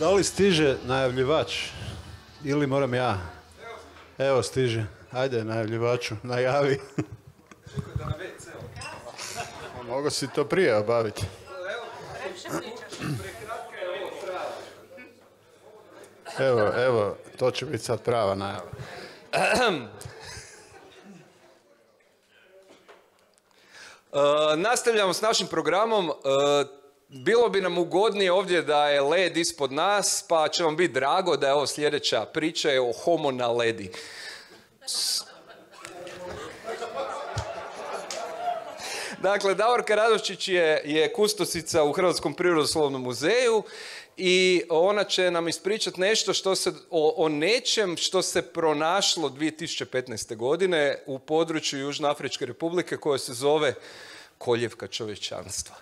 Da li stiže najavljivač? Ili moram ja? Evo stiže. Ajde najavljivaču, najavi. Mogu si to prije obaviti. Evo, to će biti sad prava najava. Nastavljamo s našim programom. Bilo bi nam ugodnije ovdje da je led ispod nas, pa će vam biti drago da je ovo sljedeća priča je o homo na ledi. Dakle, Davorka Radovčić je kustosica u Hrvatskom prirodoslovnom muzeju i ona će nam ispričati nešto o nečem što se pronašlo 2015. godine u području Južnoafričke republike koje se zove koljevka čovječanstva.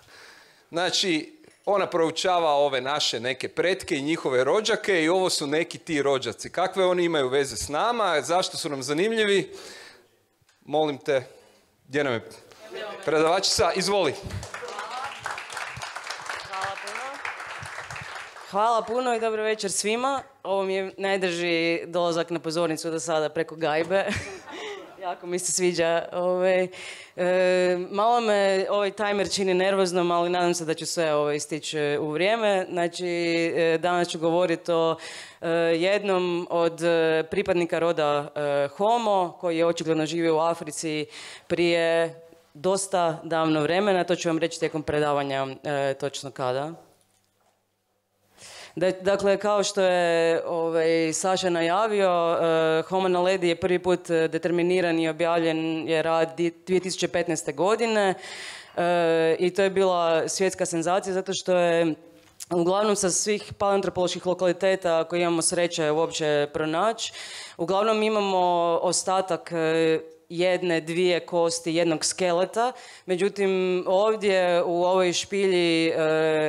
Znači, ona proučava ove naše neke pretke i njihove rođake i ovo su neki ti rođaci. Kakve oni imaju veze s nama, zašto su nam zanimljivi? Molim te, gdje nam je predavačica? Izvoli. Hvala puno i dobro večer svima. Ovo mi je najdrži dolazak na pozornicu do sada preko gajbe. Jako mi se sviđa. Malo me ovaj timer čini nervoznom, ali nadam se da ću sve stići u vrijeme. Znači, danas ću govoriti o jednom od pripadnika roda Homo, koji je očigledno živio u Africi prije dosta davno vremena. To ću vam reći tijekom predavanja točno kada. Dakle, kao što je Saša najavio, Homo na ledi je prvi put determiniran i objavljen je rad 2015. godine i to je bila svjetska senzacija zato što je uglavnom sa svih paleoantropoloških lokaliteta koje imamo sreće uopće pronaći, uglavnom imamo ostatak jedne, dvije kosti, jednog skeleta. Međutim, ovdje u ovoj špilji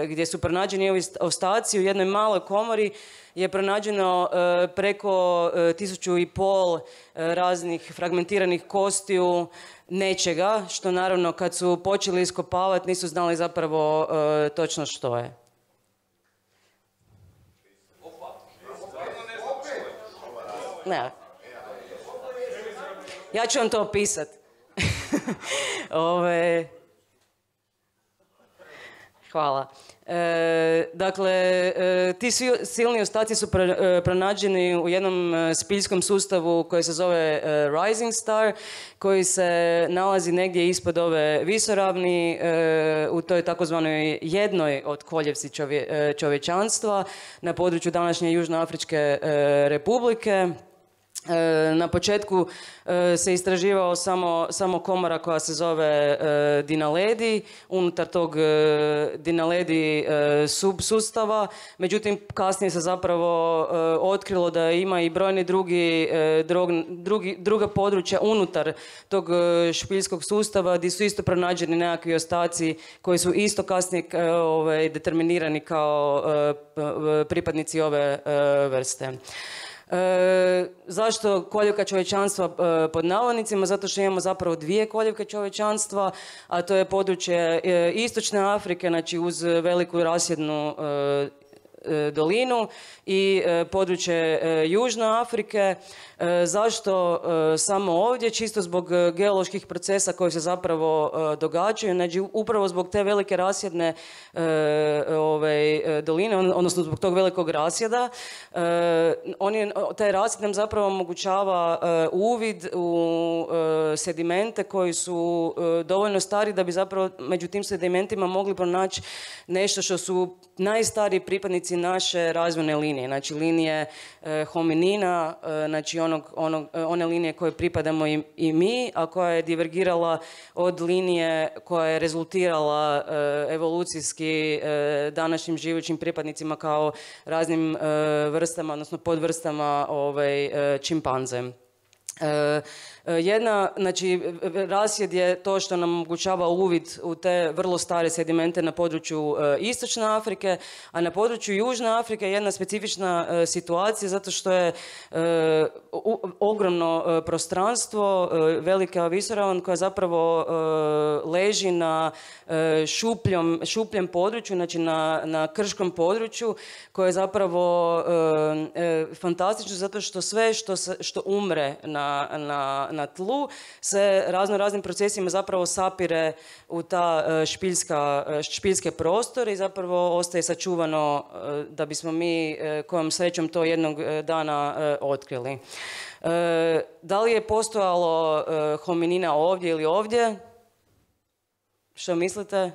gdje su pronađeni ovi ostaci u jednoj maloj komori je pronađeno preko 1500 raznih fragmentiranih kostiju nečega, što naravno kad su počeli iskopavati nisu znali zapravo točno što je. Ne. Ja ću vam to opisat. Hvala. Dakle, ti silni ostaci su pronađeni u jednom spiljskom sustavu koji se zove Rising Star, koji se nalazi negdje ispod ove visoravni u toj takozvanoj jednoj od koljevci čovječanstva na području današnje Južnoafričke republike. Na početku se istraživao samo komora koja se zove Dinaledi, unutar tog Dinaledi subsustava, međutim kasnije se zapravo otkrilo da ima i brojni druga područja unutar tog špiljskog sustava gdje su isto pronađeni nekakvi ostaci koji su isto kasnije determinirani kao pripadnici ove vrste. Zašto koljevka čovječanstva pod navodnicima? Zato što imamo zapravo dvije koljevke čovječanstva, a to je područje istočne Afrike, znači uz veliku rasjednu dolinu i područje Južne Afrike. Zašto samo ovdje? Čisto zbog geoloških procesa koji se zapravo događaju, znači upravo zbog te velike rasjedne doline, odnosno zbog tog velikog rasjeda. Taj rasjed nam zapravo omogućava uvid u sedimente koji su dovoljno stari da bi zapravo među tim sedimentima mogli pronaći nešto što su najstariji pripadnici naše razvojne linije, znači linije hominina, znači one linije koje pripadamo i mi, a koja je divergirala od linije koja je rezultirala evolucijski današnjim živućim pripadnicima kao raznim vrstama, odnosno podvrstama čimpanze. Znači, rasjed je to što nam omogućava uvid u te vrlo stare sedimente na području Istočne Afrike, a na području Južne Afrike je jedna specifična situacija zato što je ogromno prostranstvo, velika visoravan koja zapravo leži na šupljem području, znači na krškom području, koje je zapravo fantastično zato što sve što umre na tlu se raznim procesima zapravo sapire u ta špiljske prostore i zapravo ostaje sačuvano da bismo mi kojom srećom to jednog dana otkrili. Da li je postojalo hominina ovdje ili ovdje? Što mislite?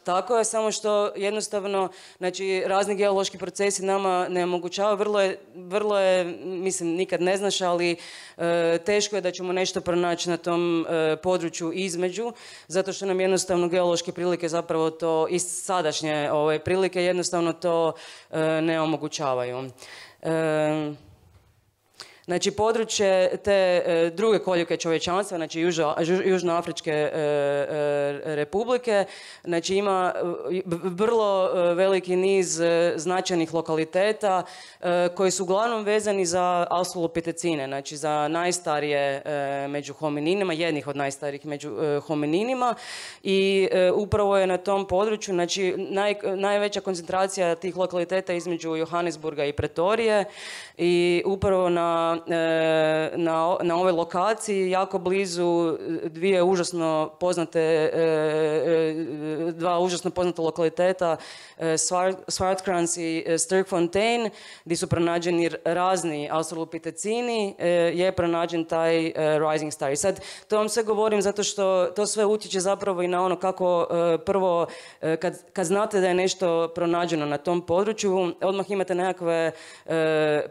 Tako je, samo što jednostavno, znači, razni geološki procesi nama ne omogućavaju, vrlo je, mislim, nikad ne znaš, ali teško je da ćemo nešto pronaći na tom području između, zato što nam jednostavno geološke prilike zapravo to, i sadašnje prilike jednostavno to ne omogućavaju. Znači, područje te druge koljuke čovječanstva, znači Južnoafričke republike, znači ima vrlo veliki niz značajnih lokaliteta koji su uglavnom vezani za australopitecine, znači za najstarije među homininima, jednih od najstarijih među homininima, i upravo je na tom području, znači najveća koncentracija tih lokaliteta između Johannesburga i Pretorije, i upravo na ovoj lokaciji, jako blizu dva užasno poznata lokaliteta, Swartkrans i Sterkfontein, gdje su pronađeni razni australopitecini, je pronađen taj Rising Star. I sad, to vam sve govorim zato što to sve utječe zapravo i na ono kako prvo, kad znate da je nešto pronađeno na tom području, odmah imate nekakve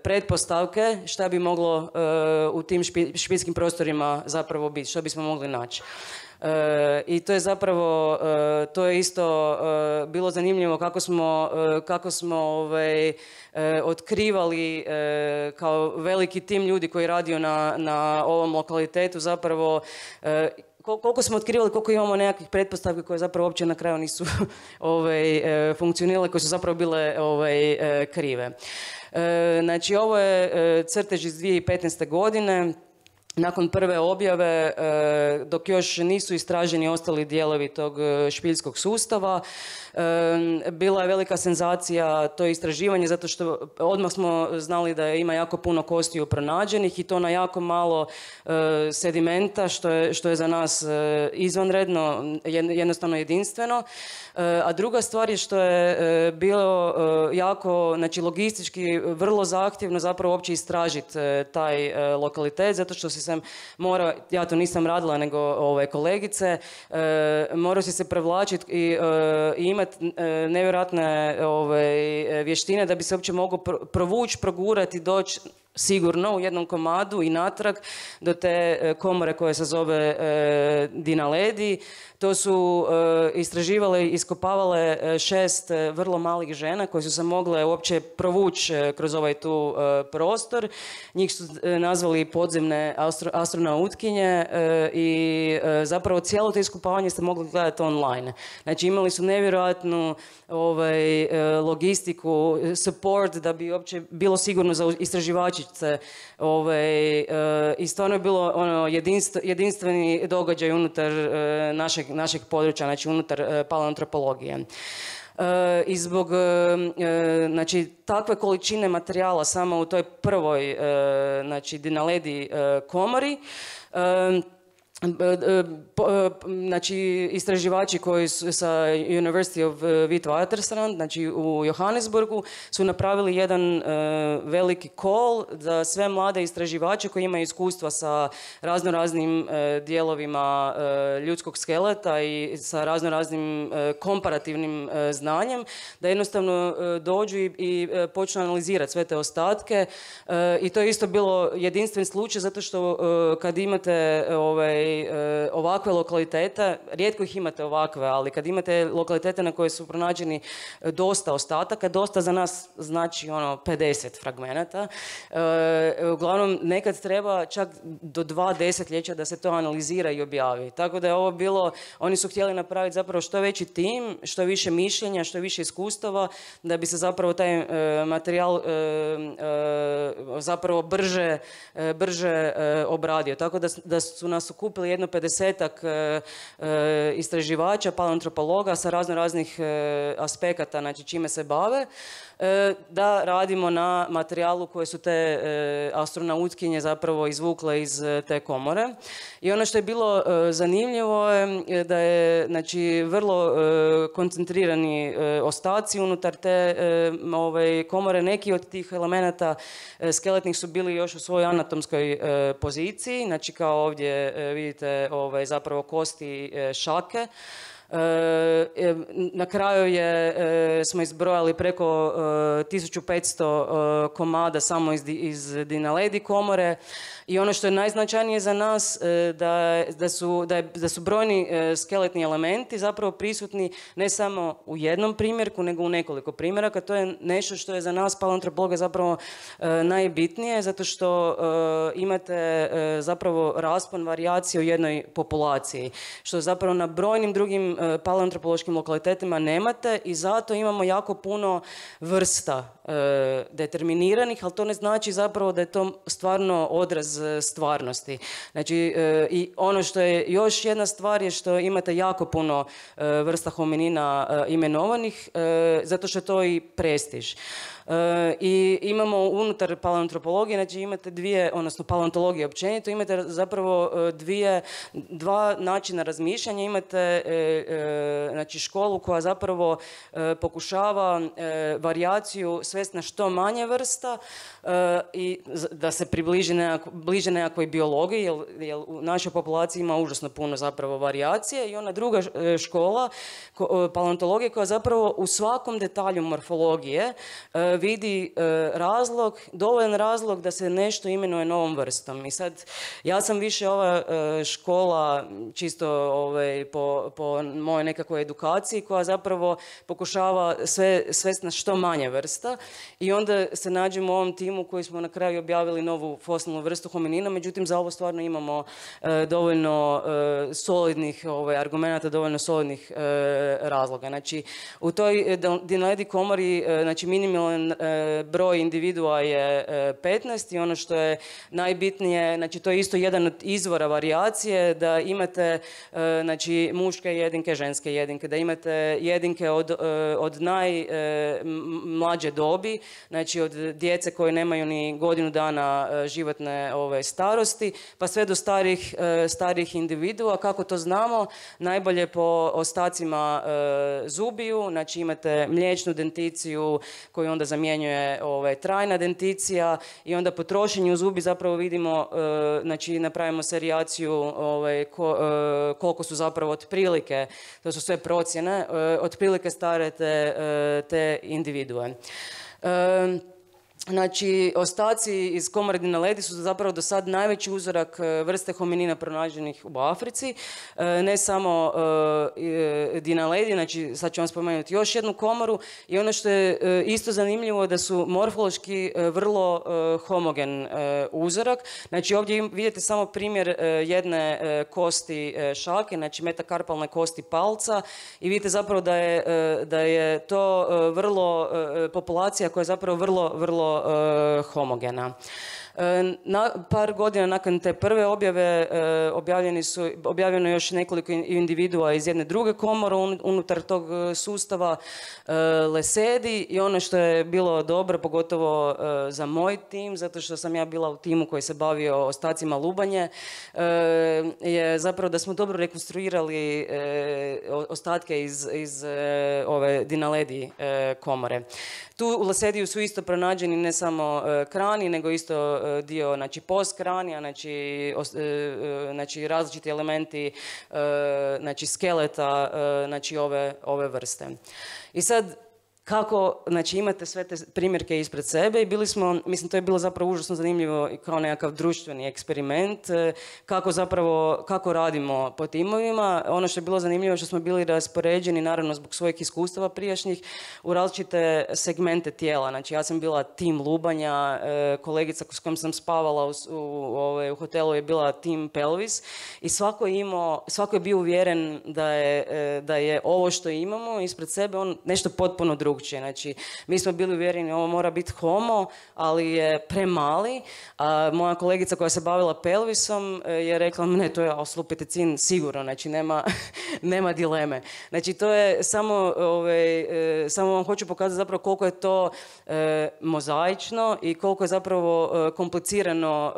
pretpostavke šta bi moglo u tim špiljskim prostorima zapravo biti, što bismo mogli naći. I to je zapravo, to je isto bilo zanimljivo kako smo otkrivali kao veliki tim ljudi koji je radio na ovom lokalitetu zapravo, koliko smo otkrivali, koliko imamo nekakvih pretpostavki koje zapravo uopće na kraju nisu funkcionirale, koje su zapravo bile krive. Znači, ovo je crtež iz 2015. godine. Nakon prve objave, dok još nisu istraženi ostali dijelovi tog špiljskog sustava, bila je velika senzacija to istraživanje, zato što odmah smo znali da ima jako puno kostiju pronađenih i to na jako malo sedimenta, što je za nas izvanredno, jednostavno jedinstveno. A druga stvar je što je bilo jako, znači logistički vrlo zahtjevno zapravo uopće istražiti taj lokalitet, zato što sam morao, ja to nisam radila nego kolegice, morao si se prevlačiti i imati nevjerojatne vještine da bi se uopće mogao provući, progurati, doći sigurno u jednom komadu i natrag do te komore koja se zove Dinaledi. To su istraživale i iskopavale 6 vrlo malih žena koje su se mogle uopće provući kroz ovaj tu prostor. Njih su nazvali podzemne astronautkinje i zapravo cijelo to iskopavanje ste mogli gledati online. Znači, imali su nevjerojatnu logistiku, support da bi uopće bilo sigurno za istraživačice. I stvarno je bilo jedinstveni događaj unutar našeg područja, znači unutar paleoantropologije. I zbog znači, takve količine materijala samo u toj prvoj znači, Dinaledi komori, znači istraživači koji su sa University of Witwatersrand, znači u Johannesburgu, su napravili jedan veliki call za sve mlade istraživače koji imaju iskustva sa raznoraznim dijelovima ljudskog skeleta i sa raznoraznim komparativnim znanjem, da jednostavno dođu i počnu analizirati sve te ostatke. I to je isto bilo jedinstven slučaj zato što kad imate ovakve lokalitete, rijetko ih imate ovakve, ali kad imate lokalitete na koje su pronađeni dosta ostataka, dosta za nas znači 50 fragmenata. Uglavnom, nekad treba čak do 2 desetljeća da se to analizira i objavi. Tako da je ovo bilo, oni su htjeli napraviti zapravo što veći tim, što više mišljenja, što više iskustava, da bi se zapravo taj materijal zapravo brže obradio. Tako da su nas okupili jedno 50-ak istraživača, paleoantropologa sa raznih aspekata, znači čime se bave, da radimo na materijalu koje su te astronautkinje zapravo izvukle iz te komore. I ono što je bilo zanimljivo je da je znači vrlo koncentrirani ostaci unutar te komore. Neki od tih elemenata skeletnih su bili još u svojoj anatomskoj poziciji, znači kao ovdje vidite zapravo kosti šake. Na kraju smo izbrojali preko 1500 komada samo iz Dinaledi komore i ono što je najznačajnije za nas da su brojni skeletni elementi zapravo prisutni ne samo u jednom primjerku nego u nekoliko primjeraka. To je nešto što je za nas paleoantropologa zapravo najbitnije, zato što imate zapravo raspon varijacije u jednoj populaciji, što zapravo na brojnim drugim paleoantropološkim lokalitetima nemate i zato imamo jako puno vrsta determiniranih, ali to ne znači zapravo da je to stvarno odraz stvarnosti. Znači, i ono što je još jedna stvar je što imate jako puno vrsta hominina imenovanih, zato što je to i prestiž. I imamo unutar paleoantropologije, znači imate odnosno paleontologije općenito, imate zapravo dva načina razmišljanja. Imate znači školu koja zapravo pokušava varijaciju svesti na što manje vrsta i da se bliže nekakvoj biologiji, jer u našoj populaciji ima užasno puno zapravo varijacije. I ona druga škola paleontologije koja zapravo u svakom detalju morfologije vidi dovoljan razlog da se nešto imenuje novom vrstom. I sad, ja sam više ova škola čisto po mojoj nekakvoj edukaciji koja zapravo pokušava svesti na što manje vrsta i onda se nađemo u ovom timu koji smo na kraju objavili novu fosilnu vrstu hominina, međutim za ovo stvarno imamo dovoljno solidnih argumenata, dovoljno solidnih razloga. Znači, u toj Dinaledi komori, znači minimalan broj individua je 15 i ono što je najbitnije, znači to je isto jedan od izvora varijacije, da imate znači muške jedinke, ženske jedinke, da imate jedinke od najmlađe dobi, znači od djece koje nemaju ni godinu dana životne starosti, pa sve do starijih individua. Kako to znamo? Najbolje po ostacima zubiju, znači imate mliječnu denticiju koju onda zamjenjuje trajna denticija i onda po trošenju zubi zapravo vidimo, znači napravimo serijaciju koliko su zapravo otprilike, to su sve procjene, otprilike stare te individue. Znači, ostaci iz komore Dinaledi su zapravo do sad najveći uzorak vrste hominina pronađenih u Africi. Ne samo Dinaledi, znači sad ću vam spomenuti još jednu komoru i ono što je isto zanimljivo da su morfološki vrlo homogen uzorak. Znači ovdje vidite samo primjer jedne kosti šake, znači metakarpalne kosti palca i vidite zapravo da je to vrlo populacija koja je zapravo vrlo homogena. Par godina nakon te prve objave objavljeno je još nekoliko individua iz jedne druge komore unutar tog sustava Lesedi i ono što je bilo dobro, pogotovo za moj tim, zato što sam ja bila u timu koji se bavio ostacima lubanje, je zapravo da smo dobro rekonstruirali ostatke iz ove Dinaledi komore. Tu u Lesediju su isto pronađeni ne samo krani, nego isto dio, znači postkranija, znači različiti elementi, znači skeleta, znači ove vrste. I sad, kako, znači imate sve te primjerke ispred sebe i bili smo, mislim to je bilo zapravo užasno zanimljivo kao nekakav društveni eksperiment, kako radimo po timovima. Ono što je bilo zanimljivo što smo bili raspoređeni, naravno zbog svojih iskustava prijašnjih, u različite segmente tijela. Znači ja sam bila tim lubanja, kolegica s kojom sam spavala u hotelu je bila tim pelvis i svako je bio uvjeren da je ovo što imamo ispred sebe nešto potpuno drugčije. Znači mi smo bili uvjereni ovo mora biti homo, ali je premali. A moja kolegica koja se bavila pelvisom je rekla ne, to je australopitecin sigurno, znači nema dileme. Znači to je samo vam hoću pokazati zapravo koliko je to mozaično i koliko je zapravo komplicirano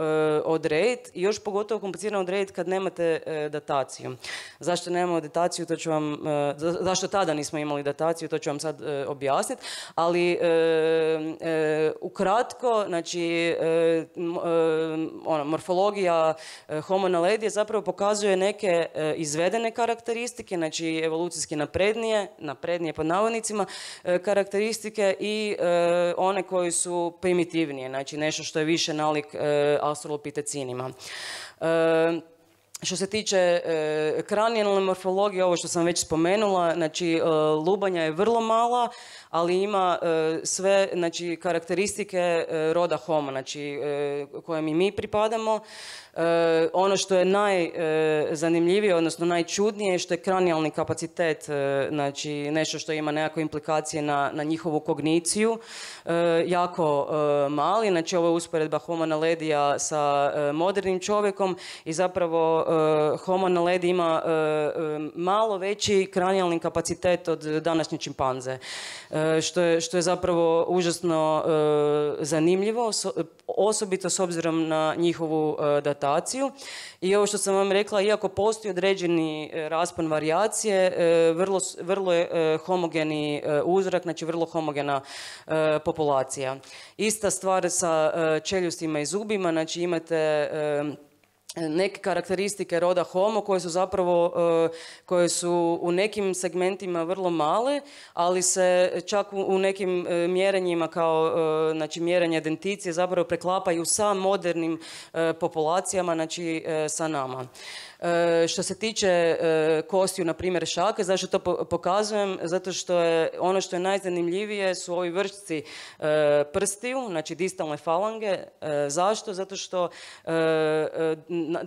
odrediti i još pogotovo komplicirano odrediti kad nemate dataciju. Zašto nemamo dataciju, to ću vam, zašto tada nismo imali dataciju, to ću vam sad objasniti, ali ukratko, znači morfologija Homo naledi zapravo pokazuje neke izvedene karakteristike, znači evolucijski naprednije pod navodnicima, karakteristike i one koji su primitivnije, znači nešto što je više nalik australopitecinima. Što se tiče kranijalne morfologije, ovo što sam već spomenula, znači lubanja je vrlo mala, ali ima sve, znači, karakteristike roda Homo, znači kojem i mi pripadamo. Ono što je najzanimljivije, odnosno najčudnije, što je kranijalni kapacitet, znači nešto što ima nekakve implikacije na njihovu kogniciju, jako mali. Znači ovo je usporedba Homo naledija sa modernim čovjekom i zapravo Homo naledi ima malo veći kranijalni kapacitet od današnje čimpanze, što je zapravo užasno zanimljivo, osobito s obzirom na njihovu dataciju. I ovo što sam vam rekla, iako postoji određeni raspon varijacije, vrlo je homogeni uzrak, znači vrlo homogena populacija. Ista stvar sa čeljustima i zubima, znači imate neke karakteristike roda Homo koje su u nekim segmentima vrlo male, ali se čak u nekim mjerenjima kao znači mjerenje denticije zapravo preklapaju sa modernim populacijama, znači sa nama. Što se tiče kostiju, na primjer šake, zašto to pokazujem? Zato što je ono što je najzanimljivije su ovi vršci prstiju, znači distalne falange. Zašto? Zato što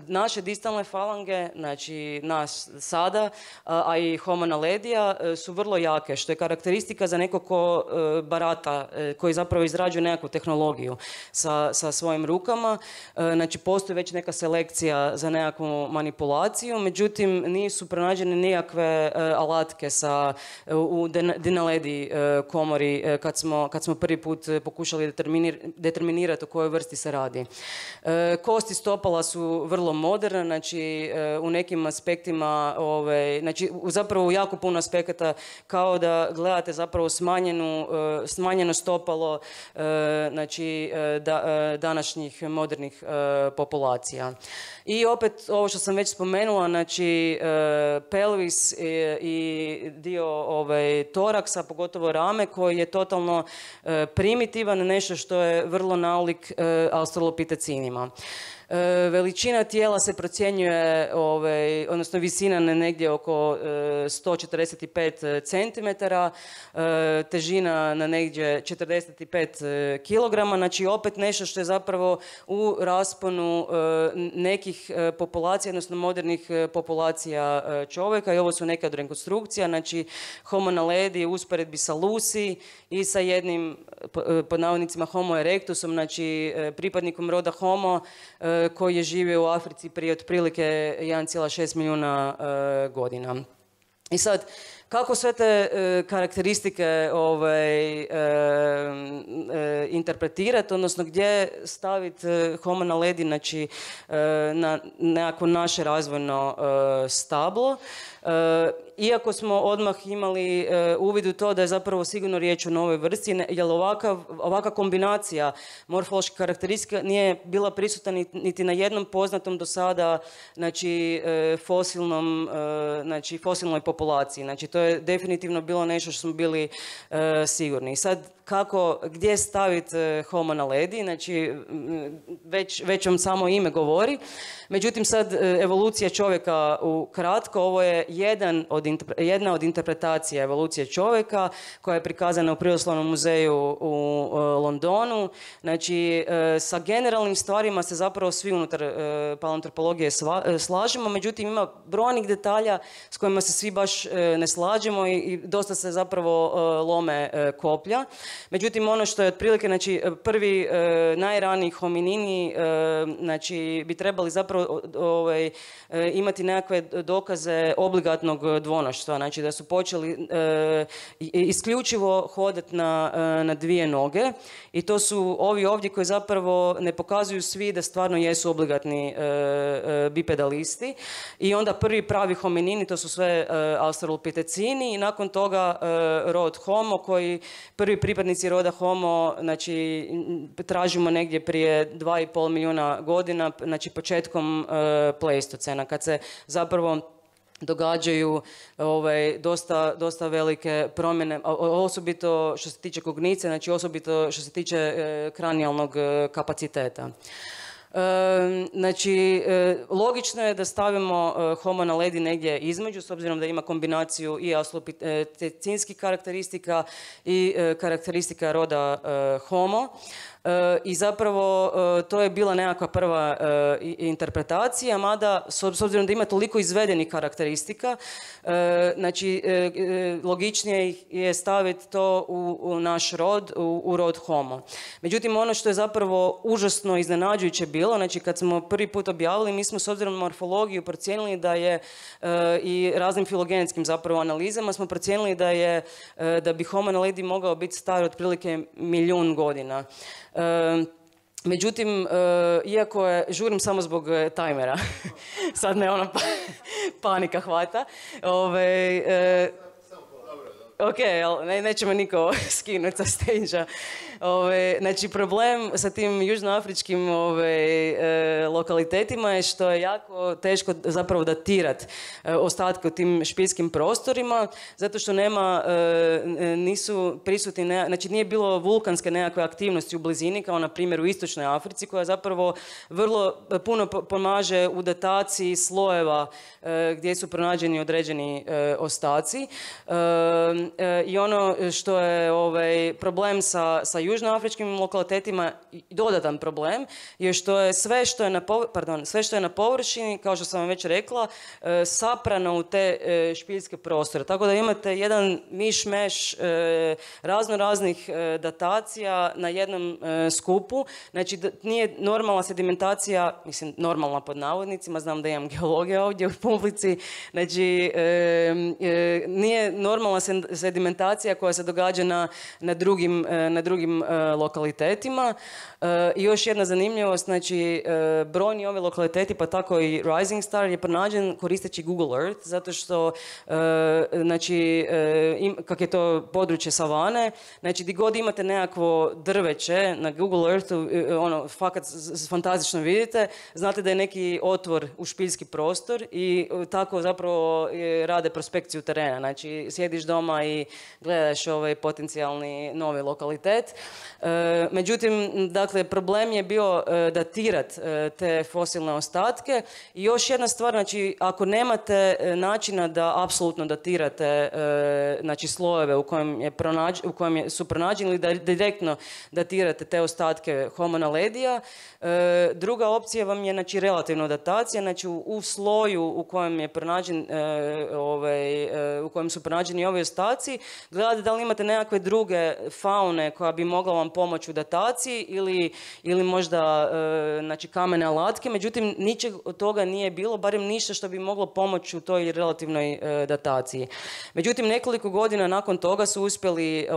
naše distalne falange, znači nas sada, a i Homo naledija su vrlo jake, što je karakteristika za nekog ko barata, koji zapravo izrađuje nekakvu tehnologiju sa svojim rukama. Znači postoji već neka selekcija za nekakvu manipulaciju, međutim nisu pronađene nikakve alatke u Dinaledi komori kad smo prvi put pokušali determinirati o kojoj vrsti se radi. Kosti stopala su vrlo moderne, znači u nekim aspektima, znači zapravo u jako puno aspekata kao da gledate zapravo smanjeno stopalo znači današnjih modernih populacija. I opet ovo što sam već spomenula, znači pelvis i dio toraksa, pogotovo rame, koji je totalno primitivan, nešto što je vrlo nalik australopitecinima. Veličina tijela se procjenjuje, odnosno visina negdje oko 145 cm, težina na negdje 45 kg, znači opet nešto što je zapravo u rasponu nekih populacija, odnosno modernih populacija čovjeka, i ovo su neke od rekonstrukcija, znači Homo naledi u usporedbi sa Lucy i sa jednim, pod navodnicima, Homo erectusom, znači pripadnikom roda Homo, koji je živio u Africi prije otprilike 1,6 milijuna godina. I sad, kako sve te karakteristike interpretirati, odnosno gdje staviti Homo naledi, znači na nekako naše razvojno stablo. Iako smo odmah imali uvid u to da je zapravo sigurno riječ o novoj vrsti, jer ovakva kombinacija morfoloških karakteristika nije bila prisutna niti na jednom poznatom do sada, znači fosilnoj populaciji. Znači to je definitivno bilo nešto što smo bili sigurni. Sad, gdje staviti Homo naledi, znači već vam samo ime govori. Međutim, sad evolucija čovjeka ukratko, ovo je jedna od interpretacija evolucije čovjeka koja je prikazana u Prirodoslovnom muzeju u Londonu. Znači, sa generalnim stvarima se zapravo svi unutar paleoantropologije slažemo, međutim ima brojnih detalja s kojima se svi baš ne slažemo i dosta se zapravo lome koplja. Međutim, ono što je otprilike, znači, prvi najraniji hominini, znači, bi trebali zapravo imati nekakve dokaze obligatnog dvonoštva, znači da su počeli isključivo hodati na dvije noge i to su ovi ovdje koji zapravo ne pokazuju svi da stvarno jesu obligatni bipedalisti i onda prvi pravi hominini, to su sve australopitecini i nakon toga rod Homo koji prvi pripadnici roda Homo, znači tražimo negdje prije 2,5 milijuna godina, znači početkom Pleistocena, kad se zapravo događaju dosta velike promjene, osobito što se tiče kognicije, znači osobito što se tiče kranijalnog kapaciteta. Znači, logično je da stavimo Homo naledi negdje između, s obzirom da ima kombinaciju i australopithecinskih karakteristika i karakteristika roda Homo. I zapravo to je bila nekakva prva interpretacija, mada s obzirom da ima toliko izvedenih karakteristika, znači logičnije je staviti to u naš rod, u rod Homo. Međutim, ono što je zapravo užasno iznenađujuće bilo, znači kad smo prvi put objavili, mi smo s obzirom na morfologiju procijenili da je i raznim filogenetskim zapravo analizama smo procijenili da bi Homo naledi mogao biti star otprilike 1.000.000 godina. Međutim, iako žurim samo zbog tajmera, sad me ona panika hvata, ok, neće me niko skinuti sa stage-a. Znači, problem sa tim južnoafričkim lokalitetima je što je jako teško zapravo datirati ostatke u tim špiljskim prostorima, zato što nisu prisutni, znači nije bilo vulkanske nekakve aktivnosti u blizini, kao na primjer u istočnoj Africi, koja zapravo vrlo puno pomaže u dataciji slojeva gdje su pronađeni određeni ostaci. I ono što je problem sa južnoafričkim lokalitetima, dodatan problem, je što je sve što je na površini, kao što sam vam već rekla, saprano u te špiljske prostore. Tako da imate jedan miš-meš raznih datacija na jednom skupu. Znači, nije normalna sedimentacija, mislim, normalna pod navodnicima, znam da imam geologija ovdje u publici, znači, nije normalna sedimentacija koja se događa na drugim lokalitetima. I još jedna zanimljivost, znači brojni ovi lokaliteti, pa tako i Rising Star je pronađen koristeći Google Earth, zato što znači, kak je to područje savane, znači gdje god imate nekakvo drveće na Google Earthu, fakat fantastično vidite, znate da je neki otvor u špiljski prostor i tako zapravo rade prospekciju terena. Znači, sjediš doma i gledaš potencijalni novi lokalitet. Međutim, dakle, problem je bio datirati te fosilne ostatke i još jedna stvar, znači, ako nemate načina da apsolutno datirate znači, slojeve u kojem su pronađeni ili da direktno datirate te ostatke Homo naledija, druga opcija vam je, znači, relativna datacija, znači u sloju u kojem je pronađen u kojem su pronađeni ovi ostaci, gledate da li imate nekakve druge faune koja bi mogla vam pomoći u dataciji ili možda znači, kamene alatke, međutim ničeg od toga nije bilo, barem ništa što bi moglo pomoći u toj relativnoj dataciji. Međutim, nekoliko godina nakon toga su uspjeli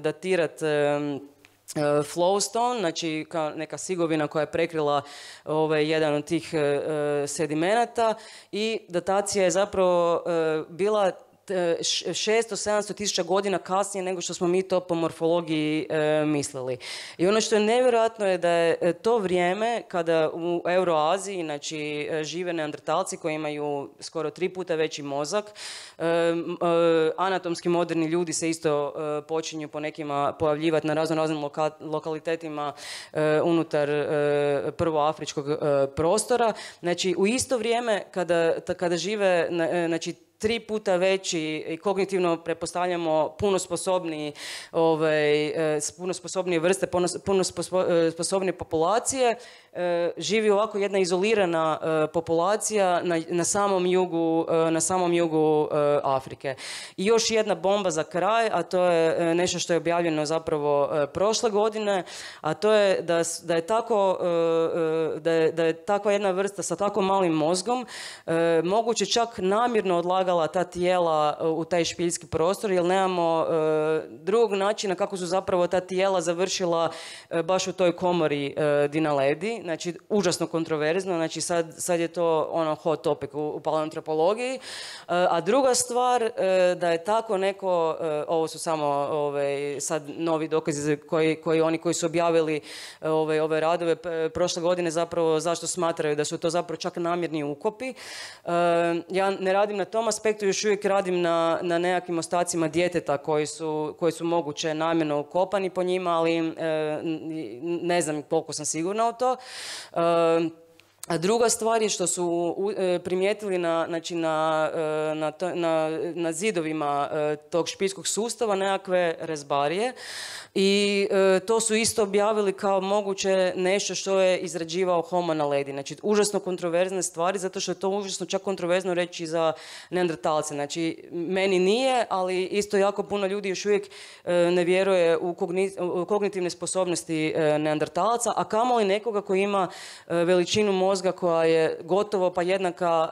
datirati flowstone, znači neka sigovina koja je prekrila jedan od tih sedimenata i datacija je zapravo bila 600-700 tisuća godina kasnije nego što smo mi to po morfologiji mislili. I ono što je nevjerojatno je da je to vrijeme kada u Euroaziji, znači, žive neandertalci koji imaju skoro 3 puta veći mozak, anatomski moderni ljudi se isto počinju po nekima pojavljivati na raznim lokalitetima unutar prvoafričkog prostora. Znači, u isto vrijeme kada žive, znači, 3 puta veći i kognitivno pretpostavljamo puno sposobnije vrste, puno sposobnije populacije, živi ovako jedna izolirana populacija na samom jugu Afrike. I još jedna bomba za kraj, a to je nešto što je objavljeno zapravo prošle godine, a to je da je takva jedna vrsta sa tako malim mozgom moguće čak namjerno odlagala ta tijela u taj špiljski prostor, jer nemamo drugog načina kako su zapravo ta tijela završila baš u toj komori Dinaledi. Znači, užasno kontroverzno, znači sad je to hot topic u paleoantropologiji. A druga stvar, da je tako neko, ovo su samo sad novi dokazi koji su objavili ove radove prošle godine, zapravo zašto smatraju da su to zapravo čak namjerni ukopi. Ja ne radim na tom aspektu, još uvijek radim na nekakvim ostacima djeteta koji su moguće namjerno ukopani po njima, ali ne znam koliko sam sigurna u to. A druga stvar je što su primijetili na zidovima tog špiljskog sustava nekakve rezbarije i to su isto objavili kao moguće nešto što je izrađivao Homo naledi. Znači, užasno kontroverzne stvari, zato što je to užasno čak kontroverzno reći za neandertalce. Znači, meni nije, ali isto jako puno ljudi još uvijek ne vjeruje u kognitivne sposobnosti neandertalaca, a kamoli nekoga koji ima veličinu mozga koja je gotovo pa jednaka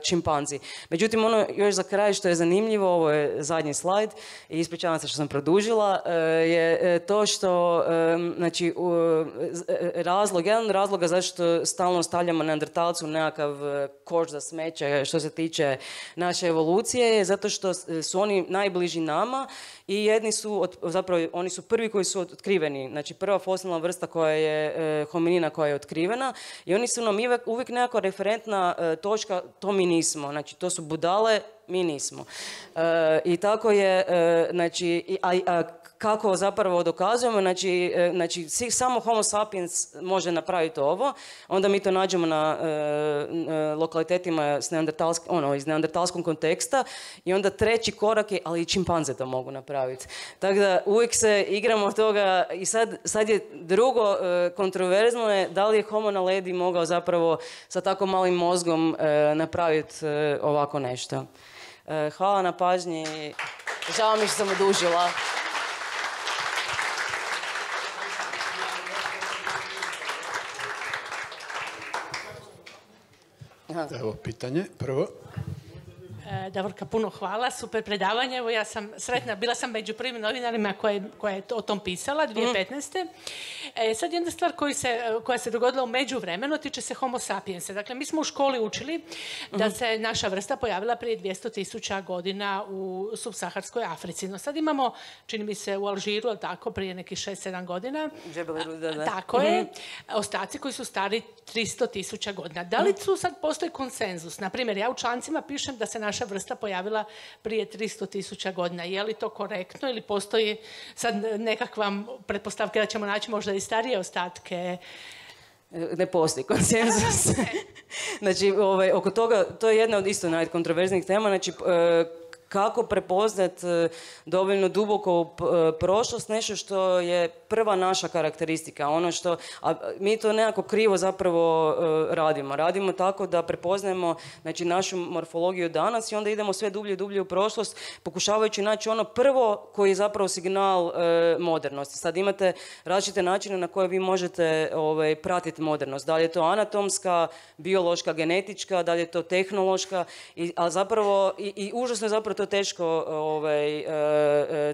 čimpanzi. Međutim, ono još za kraj što je zanimljivo, ovo je zadnji slajd i ispričavam se što sam produžila, je to što, znači, jedan razloga zašto stalno stavljamo neandertalcu nekakav koš za smeće što se tiče naše evolucije je zato što su oni najbliži nama i jedni su, zapravo oni su prvi koji su otkriveni, znači prva fosilna vrsta koja je hominina koja je otkrivena i oni su nam uvijek nekako referentna točka, to mi nismo, znači to su budale, mi nismo. I tako je, znači, kako zapravo dokazujemo, znači samo Homo sapiens može napraviti ovo, onda mi to nađemo na lokalitetima iz neandertalskog konteksta i onda treći korak je, ali i čimpanze to mogu napraviti. Tako da uvijek se igramo od toga i sad je drugo kontroverzno je da li je Homo naledi mogao zapravo sa tako malim mozgom napraviti ovako nešto. Hvala na pažnji, žao mi što sam odužila. Evo, pitanje prvo. Davorka, puno hvala, super predavanje. Evo, ja sam sretna, bila sam među prvim novinarima koja je o tom pisala 2015. Sad jedna stvar koja se dogodila u međuvremenu tiče se Homo sapiensa. Dakle, mi smo u školi učili da se naša vrsta pojavila prije 200.000 godina u subsaharskoj Africi. No sad imamo, čini mi se u Alžiru, tako, prije nekih 6-7 godina. Tako je. Ostaci koji su stari 300.000 godina. Da li tu sad postoji konsenzus? Naprimjer, ja u člancima pišem da se naša vrsta pojavila prije 300.000 godina. Je li to korektno ili postoji sad nekakva pretpostavka da ćemo naći možda i starije ostatke? Ne postoji konsenzus. Znači, oko toga, to je jedna od isto najkontroverznijih tema, znači, kako prepoznat dovoljno duboko u prošlost, nešto što je prva naša karakteristika, ono što, a mi to nekako krivo zapravo radimo. Radimo tako da prepoznajemo, znači, našu morfologiju danas i onda idemo sve dublje i dublje u prošlost, pokušavajući naći ono prvo koji je zapravo signal modernosti. Sad imate različite načine na koje vi možete pratiti modernost. Da li je to anatomska, biološka, genetička, da li je to tehnološka, a zapravo i užasno je zapravo to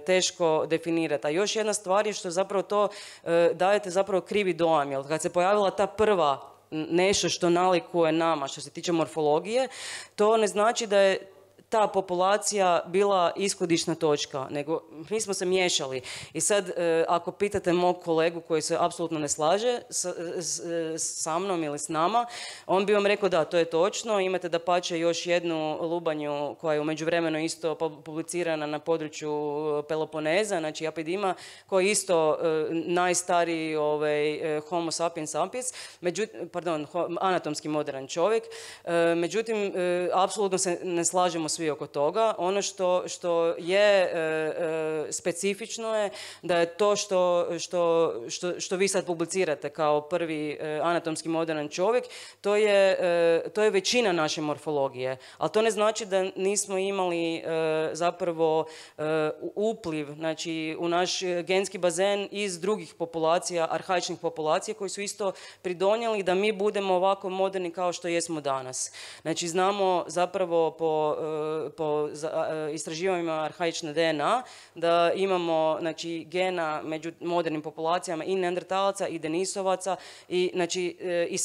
teško definirati. A još jedna stvar je što zapravo to dajete zapravo krivi dojam. Jer kad se pojavila ta prva nešto što nalikuje nama što se tiče morfologije, to ne znači da je ta populacija bila ishodišna točka, nego mi smo se miješali. I sad, ako pitate mog kolegu koji se apsolutno ne slaže sa mnom ili s nama, on bi vam rekao da, to je točno, imate dapače još jednu lubanju koja je u međuvremenu isto publicirana na području Peloponeza, znači Apidima, koji je isto najstariji Homo sapiens sapiens, anatomski moderan čovjek. Međutim, apsolutno se ne slažemo svi oko toga. Ono što je specifično je da je to što vi sad publicirate kao prvi anatomski moderan čovjek, to je većina naše morfologije. Ali to ne znači da nismo imali zapravo upliv, znači u naš genski bazen iz drugih populacija, arhaičnih populacija koji su isto pridonijeli da mi budemo ovako moderni kao što jesmo danas. Znači znamo zapravo po istraživanjima arhaične DNA da imamo znači, gena među modernim populacijama i neandertalaca i denisovaca i, znači, i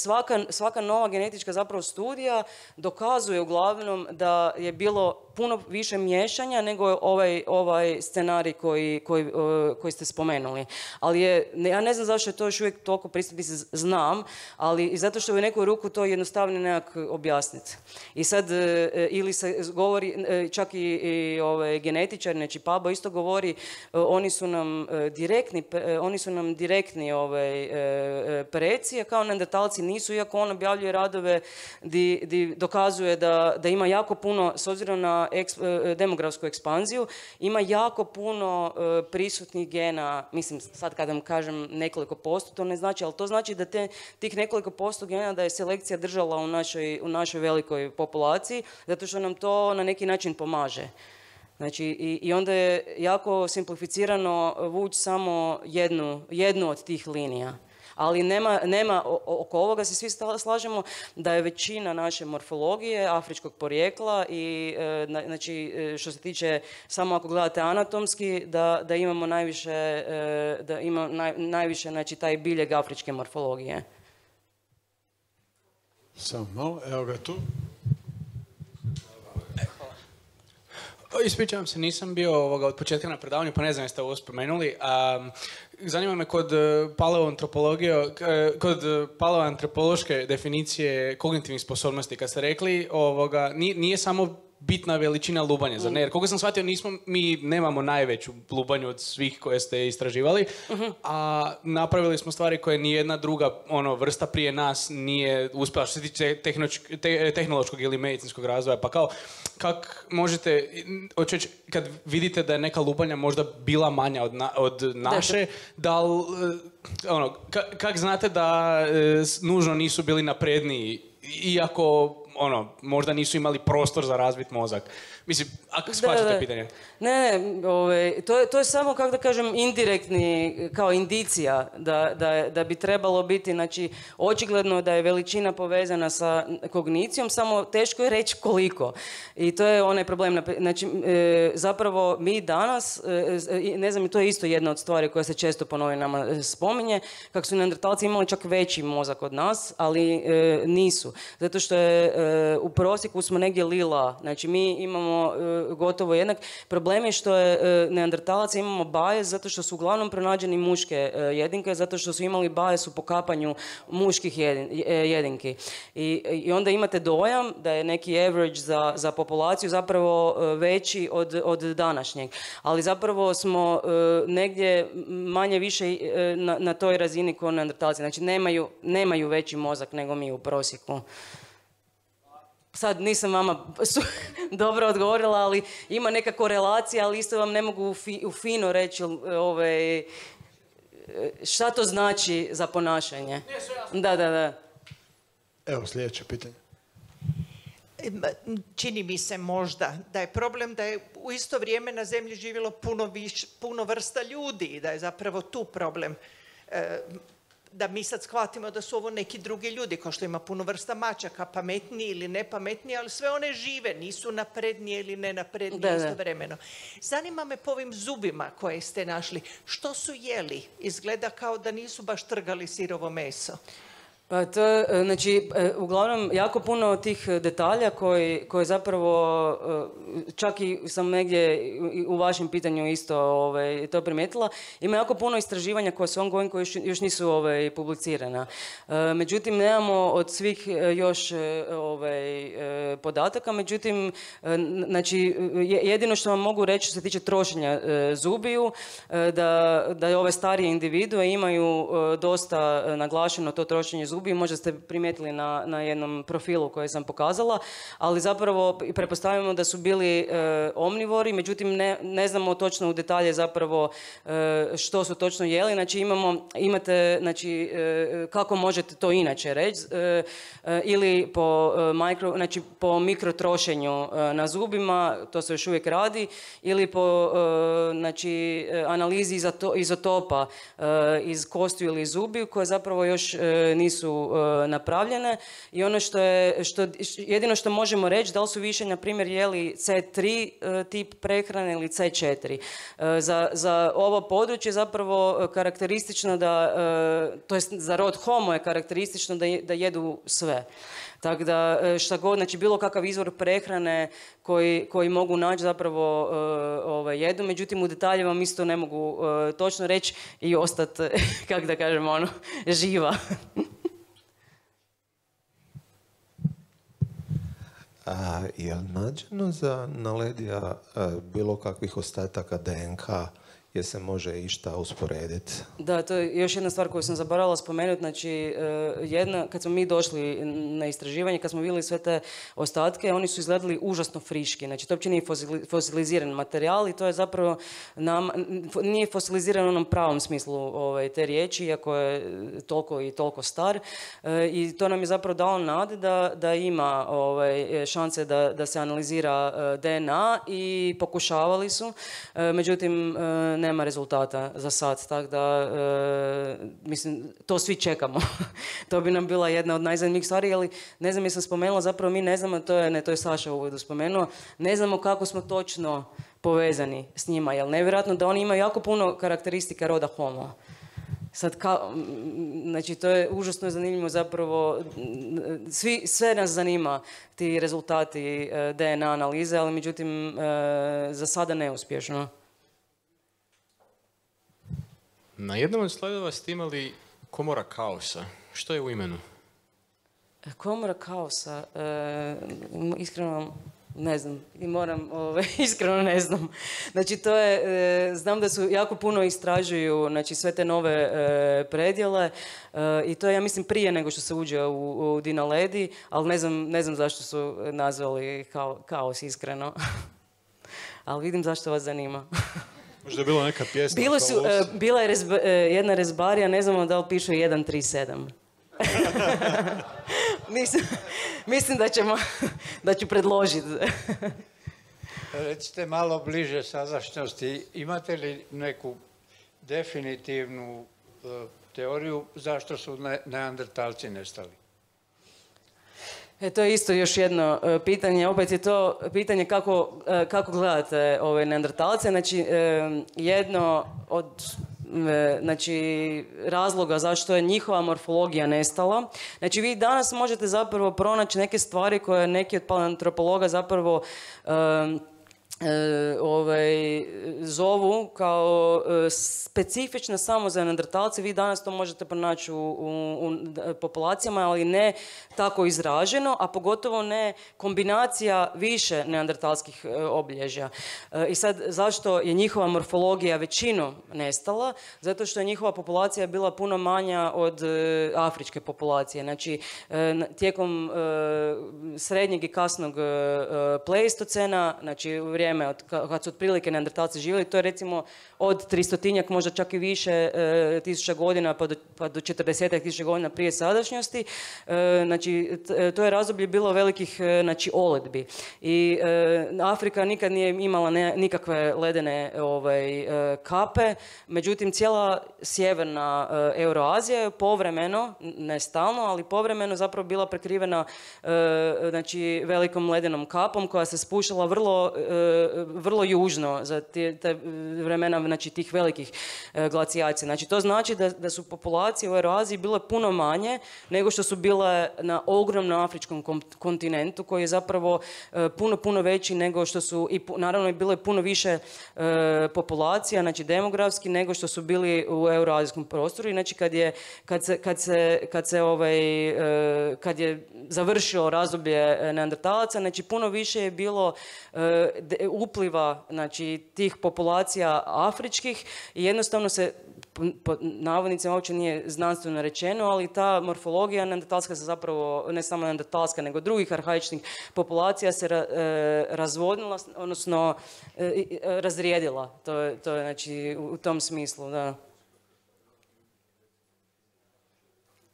svaka nova genetička zapravo studija dokazuje uglavnom da je bilo puno više miješanja nego ovaj scenarij koji ste spomenuli. Ali ja ne znam zašto je to još uvijek toliko prisutno, znam, ali i zato što je u neku ruku to jednostavno nekako objasniti. I sad, ili se govori, čak i genetičari, znači Pabo isto govori, oni su nam direktni preci, a kao neandertalci nisu, iako on objavljuje radove di dokazuje da ima jako puno, s obzirom na demografsku ekspanziju, ima jako puno prisutnih gena, mislim sad kad vam kažem nekoliko posto, to ne znači, ali to znači da tih nekoliko posto gena da je selekcija držala u našoj velikoj populaciji, zato što nam to na neki način pomaže. Znači, i onda je jako simplificirano vući samo jednu od tih linija. Ali nema, oko ovoga se svi slažemo da je većina naše morfologije afričkog porijekla i znači što se tiče, samo ako gledate anatomski, da imamo najviše znači taj biljeg afričke morfologije. Samo malo, evo ga tu. Ispričavam se, nisam bio od početka na predavanju, pa ne znam jeste ovo spomenuli. Zanima me kod paleoantropološke definicije kognitivnih sposobnosti, kad ste rekli, nije samo bitna veličina lubanja, zar ne? Jer koliko sam shvatio, mi nemamo najveću lubanju od svih koje ste istraživali, a napravili smo stvari koje nijedna druga vrsta prije nas nije uspjela što se tiče tehnološkog ili medicinskog razvoja. Pa kako možete, kad vidite da je neka lubanja možda bila manja od naše, kako znate da nužno nisu bili napredniji, iako možda nisu imali prostor za razvit mozak. Mislim, ako shvaćate pitanje. Ne, to je samo, kako da kažem, indirektni, kao indicija da bi trebalo biti, znači, očigledno da je veličina povezana sa kognicijom, samo teško je reći koliko. I to je onaj problem. Znači, zapravo mi danas, ne znam, to je isto jedna od stvari koja se često po novinama spominje, kako su neandertalci imali čak veći mozak od nas, ali nisu. Zato što u prosjeku smo negdje lila, znači mi imamo gotovo jednak. Problem je što je neandertalaca imamo bajes zato što su uglavnom pronađeni muške jedinke, zato što su imali bajes u pokapanju muških jedinki. I onda imate dojam da je neki average za populaciju zapravo veći od današnjeg. Ali zapravo smo negdje manje više na toj razini kao neandertalci. Znači nemaju veći mozak nego mi u prosjeku. Sad nisam vama dobro odgovorila, ali ima neka korelacija, ali isto vam ne mogu fino reći šta to znači za ponašanje. Da. Evo sljedeće pitanje. Čini mi se možda da je problem da je u isto vrijeme na zemlji živjelo puno vrsta ljudi i da je zapravo tu problem. Da mi sad shvatimo da su ovo neki drugi ljudi, kao što ima puno vrsta mačaka, pametniji ili nepametniji, ali sve one žive, nisu naprednije ili nenaprednije istovremeno. Zanima me po ovim zubima koje ste našli, što su jeli? Izgleda kao da nisu baš trgali sirovo meso. Pa to, znači, uglavnom, jako puno tih detalja koji zapravo, čak i sam negdje u vašem pitanju isto to primijetila, ima jako puno istraživanja koja su ongoing, koji još nisu publicirana. Međutim, nemamo od svih još podataka, međutim, znači, jedino što vam mogu reći što se tiče trošenja zubiju, da ove starije individue imaju dosta naglašeno to trošenje zubiju. Možda ste primijetili na jednom profilu koji sam pokazala, ali zapravo pretpostavljamo da su bili omnivori, međutim ne znamo točno u detalje zapravo što su točno jeli. Znači imate, znači, kako možete to inače reći, ili po mikrotrošenju na zubima, to se još uvijek radi, ili po znači, analizi izotopa iz kostiju ili zubiju, koje zapravo još nisu napravljene, i ono jedino što možemo reći, da li su više, na primjer, jeli C3 tip prehrane ili C4. Za ovo područje zapravo karakteristično da, to jest za rod Homo je karakteristično da jedu sve. Tako da šta god, znači bilo kakav izvor prehrane koji mogu naći zapravo jedu, međutim u detalje vam isto ne mogu točno reći i ostati, kako da kažem, živa. Je li nađeno za Naledija bilo kakvih ostataka DNK gdje se može išta usporediti? Da, to je još jedna stvar koju sam zaboravila spomenuti. Znači, kad smo mi došli na istraživanje, kad smo vidjeli sve te ostatke, oni su izgledali užasno friški. Znači, to uopće nije fosiliziran materijal i to je zapravo nije fosiliziran u onom pravom smislu te riječi, iako je toliko i toliko star. I to nam je zapravo dalo nade da ima šanse da se analizira DNA i pokušavali su. Međutim, nema rezultata za sad, tako da, mislim, to svi čekamo. To bi nam bila jedna od najzanimljivih stvari, ali ne znam, jesam spomenula, zapravo mi ne znamo, to je Saša u uvodu spomenuo, ne znamo kako smo točno povezani s njima, jer nevjerojatno da oni imaju jako puno karakteristika roda Homo. Sad, znači, to je užasno zanimljivo zapravo, sve nas zanima ti rezultati DNA analize, ali međutim, za sada neuspješno. Na jednom od slajdova ste imali komora kaosa. Što je u imenu? Komora kaosa, iskreno ne znam. I moram, iskreno ne znam. Znači, to je, znam da su jako puno istražuju, znači, sve te nove predjele i to je, ja mislim, prije nego što se uđe u Dinaledi, ali ne znam zašto su nazvali kaos, iskreno. Ali vidim zašto vas zanima. Možda je bila neka pjesma. Bila je jedna rezbarija, ne znamo da li piše 137. Mislim da ću predložiti. Recite malo bliže sadašnjosti, imate li neku definitivnu teoriju zašto su neandertalci nestali? To je isto još jedno pitanje. Opet je to pitanje kako gledate ove neandertalce. Znači, jedno od razloga zašto je njihova morfologija nestala. Znači, vi danas možete zapravo pronaći neke stvari koje neki od paleoantropologa zapravo zovu kao specifična samo za neandertalce. Vi danas to možete pronaći u populacijama, ali ne tako izraženo, a pogotovo ne kombinacija više neandertalskih obilježja. I sad, zašto je njihova morfologija većinom nestala? Zato što je njihova populacija bila puno manja od afričke populacije. Znači, tijekom srednjeg i kasnog pleistocena, znači u vrijeme kad su otprilike neandertalci živjeli, to je recimo od 300-tinjak, možda čak i više tisuća godina pa do 40 tisuća godina prije sadašnjosti. Znači, to je razdoblje bilo velikih oledbi. I Afrika nikad nije imala nikakve ledene kape, međutim cijela sjeverna Euroazija je povremeno, ne stalno, ali povremeno zapravo bila prekrivena velikom ledenom kapom koja se spuštala vrlo vrlo južno za te vremena, znači tih velikih glacijacija. Znači to znači da su populacije u Euraziji bile puno manje nego što su bile na ogromnom afričkom kontinentu koji je zapravo puno veći nego što su, i naravno je bilo je puno više populacija, znači demografski, nego što su bili u euroazijskom prostoru. I znači kad je završilo razdoblje neandertalaca, znači puno više je bilo upliva, znači tih populacija afričkih i jednostavno se, po navodnicima uopće nije znanstveno rečeno, ali ta morfologija neandertalska se zapravo, ne samo neandertalska, nego drugih arhaičnih populacija se razvodnila, odnosno razrijedila. To je znači u tom smislu, da.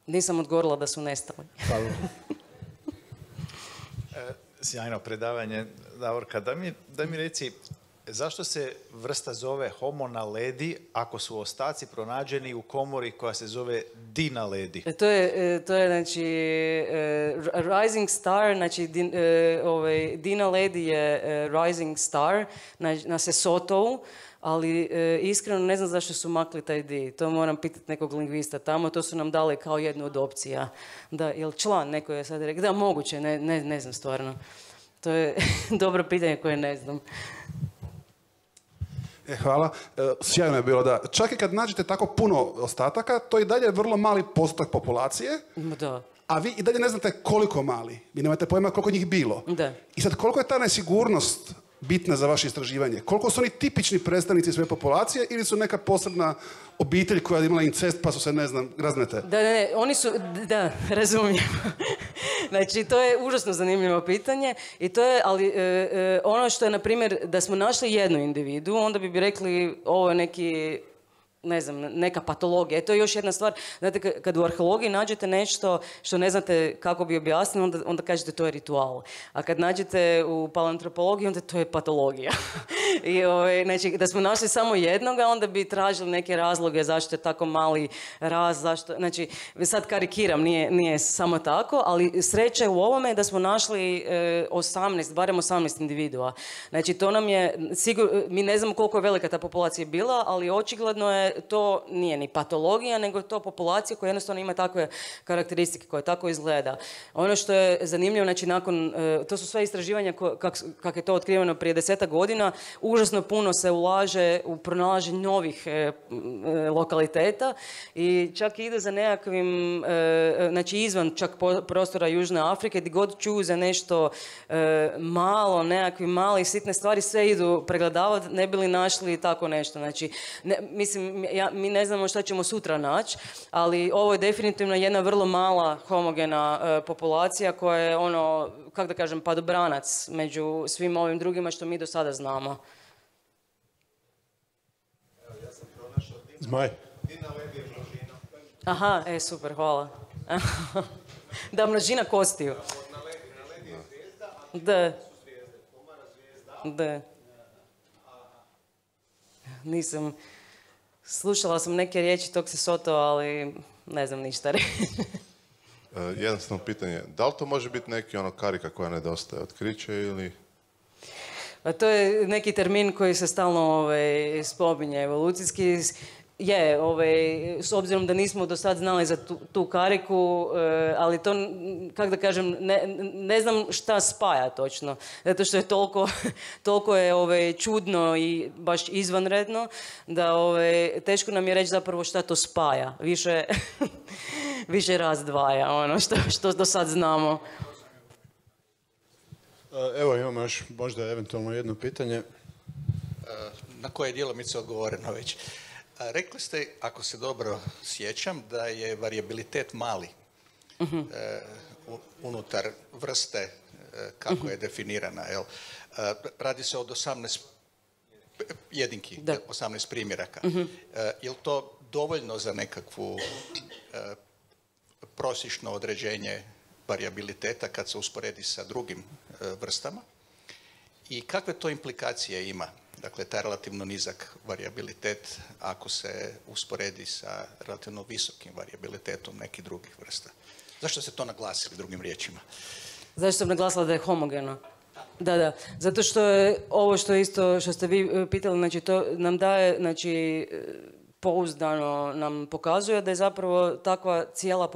Nisam odgovorila da su nestali. Sjajno predavanje, Davorka. Da mi reci, zašto se vrsta zove Homo naledi ako su ostaci pronađeni u komori koja se zove Di naledi? To je znači Rising Star, znači Di naledi je Rising Star na Sesotovu, ali iskreno ne znam zašto su makli taj di. To moram pitati nekog lingvista tamo, to su nam dali kao jednu od opcija. Da, jel član, neko je sad rekao, da, moguće, ne znam stvarno. To je dobro pitanje koje ne znam. Hvala. Sjajno je bilo da čak i kad nađete tako puno ostataka, to i dalje je vrlo mali postotak populacije. Da. A vi i dalje ne znate koliko mali. Vi nemate pojma koliko njih bilo. Da. I sad koliko je ta nesigurnost bitna za vaše istraživanje? Koliko su oni tipični predstavnici svoje populacije ili su neka posebna obitelj koja je imala incest pa su se, ne znam, raznete? Ne, oni su, da, razumijem. Znači, to je užasno zanimljivo pitanje i to je, ali ono što je, na primjer, da smo našli jednu individu, onda bi rekli ovo je neki, ne znam, neka patologija. To je još jedna stvar. Znate, kad u arheologiji nađete nešto što ne znate kako bi objasnili, onda kažete to je ritual. A kad nađete u paleoantropologiji, onda to je patologija. I, znači, da smo našli samo jednoga, onda bi tražili neke razloge zašto je tako mali raz, zašto... Znači, sad karikiram, nije samo tako, ali sreća u ovome da smo našli 18, barem 18 individua. Znači, to nam je... mi ne znamo koliko je velika ta populacija bila, ali očigledno je to nije ni patologija, nego je to populacija koja jednostavno ima takve karakteristike, koja tako izgleda. Ono što je zanimljivo, znači nakon, to su sve istraživanja kako je to otkriveno prije 10 godina, užasno puno se ulaže u pronalaženje novih lokaliteta i čak ide za nekakvim, znači izvan čak prostora Južne Afrike, gdje god čuju za nešto malo, nekakvi mali sitne stvari, sve idu pregledavati, ne bi li našli tako nešto. Znači, mi ne znamo šta ćemo sutra naći, ali ovo je definitivno jedna vrlo mala homogena populacija koja je ono, kako da kažem, padobranac među svim ovim drugima što mi do sada znamo. Zmaj. Aha, super, hvala. Da, množina kostiju. Da. Da. Nisam... Slušala sam neke riječi tog Sesotova, ali ne znam ništa reći. Jednostavno pitanje, da li to može biti neki ono karika koja nedostaje, otkriće ili... Pa to je neki termin koji se stalno spominje evolucijski. Je, s obzirom da nismo do sad znali za tu kariku, ali to, kako da kažem, ne znam šta spaja točno. Zato što je toliko je čudno i baš izvanredno, da teško nam je reći zapravo šta to spaja. Više razdvaja, ono što do sad znamo. Evo imamo još možda eventualno jedno pitanje. Na koje je djelomice odgovoreno već. Rekli ste, ako se dobro sjećam, da je varijabilitet mali unutar vrste kako je definirana. Jel? Radi se od 18 jedinki, 18 primjeraka. Je li to dovoljno za nekakvu prosječno određenje varijabiliteta kad se usporedi sa drugim vrstama? I kakve to implikacije ima? Dakle, taj relativno nizak varijabilitet ako se usporedi sa relativno visokim varijabilitetom nekih drugih vrsta. Zašto ste to naglasili drugim riječima? Zašto sam naglasila da je homogeno? Da. Zato što je ovo što ste vi pitali, znači to nam daje, znači pouzdano nam pokazuje da je zapravo takva cijela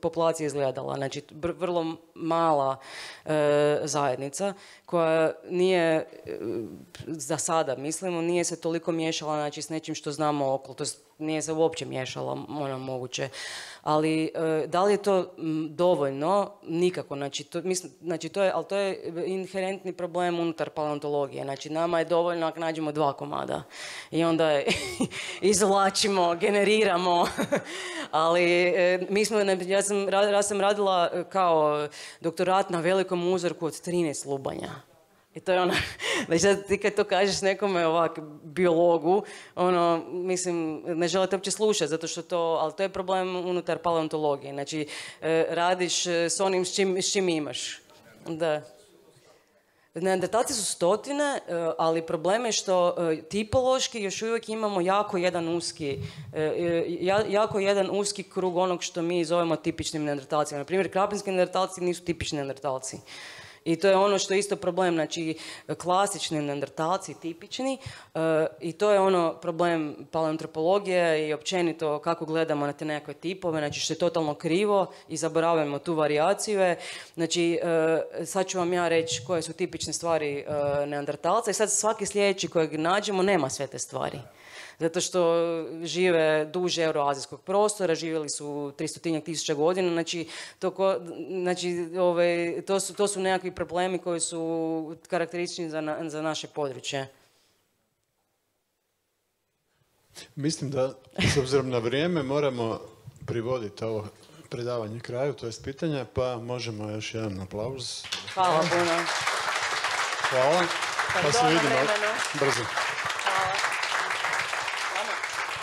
populacija izgledala. Znači vrlo mala zajednica koja nije, za sada mislimo, nije se toliko miješala, znači, s nečim što znamo okolo, to nije se uopće miješala, moguće. Ali da li je to dovoljno? Nikako. Ali to je inherentni problem unutar paleontologije. Znači, nama je dovoljno ako nađemo 2 komada. I onda izvlačimo, generiramo. Ali ja sam radila kao doktorat na velikom uzorku od 13 lubanja. I to je ono, znači ti kad to kažeš nekome ovak, biologu, mislim, ne želite uopće slušati, zato što ali to je problem unutar paleontologije. Znači, radiš s onim s čim imaš. Da. Neandertalci su stotine, ali problem je što tipološki još uvijek imamo jako jedan uski krug onog što mi zovemo tipičnim neandertalcima. Na primjer, krapinski neandertalci nisu tipični neandertalci. I to je ono što je isto problem, znači klasični neandertalci, tipični, i to je problem paleoantropologije i općenito kako gledamo na te nekakve tipove, znači što je totalno krivo i zaboravljamo tu varijaciju. Znači, sad ću vam ja reći koje su tipične stvari neandertalca i sad svaki sljedeći kojeg nađemo nema sve te stvari. Zato što žive duže euroazijskog prostora, živjeli su 300.000 godina, to su nekakvi problemi koji su karakteristični za naše područje. Mislim da, s obzirom na vrijeme, moramo privoditi ovo predavanje kraju, to je pitanja, pa možemo još jedan aplauz. Hvala puno. Hvala, pa se vidimo brzo.